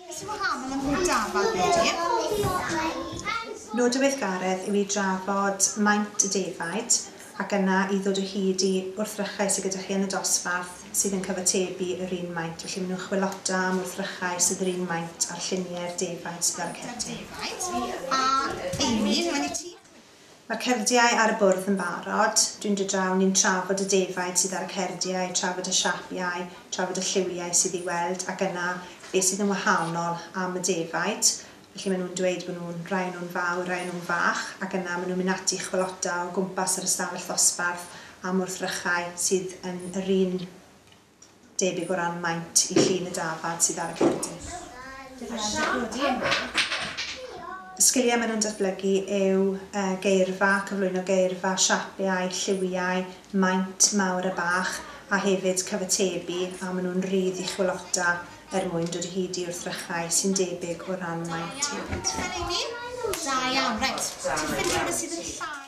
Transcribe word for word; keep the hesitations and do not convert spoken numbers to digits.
Beth sy'n wahanol am bob dafad wedi? Nod y weithgaredd yw i drafod maint y defaid ac yna i ddod o hyd i wrthrychau sydd gyda chi yn y dosbarth sydd yn cyfatebu yr un maint. Felly maen nhw'n chwilota am wrthrychau sydd yr un maint a'r lluniau'r defaid sydd ar y cerdyn. Defaid. A Amy, rhaid i ti. Mae'r cerdiau ar y bwrdd yn barod. Dwi'n dod draw, ni'n trafod y defaid sydd ar y cerdiau, trafod y siapiau, trafod y lliwiau sydd i weld ac yna beth sydd yn wahanol am y defaid. Felly maen nhw'n dweud bod nhw'n rai o'n nhw'n fawr, rai o'n nhw'n fach, ac yna maen nhw'n mynd ati i chwilota o gwmpas yr ystafell ddosbarth am wrthrychau sydd yn yr un debyg o ran maint i llun y dafad sydd ar y cerdyn. Y sgiliau maen nhw'n datblygu yw uh, geirfa, cyflwyno geirfa, siapiau, lliwiau, maint mawr a bach, a hefyd cyfatebu, a maen nhw'n rhydd i chwilota er mwyn dod o hyd i wrthrychau sy'n debyg o ran maint hefyd. Da iawn, reit. Ti'n ffindio rhywbeth sydd yn llai?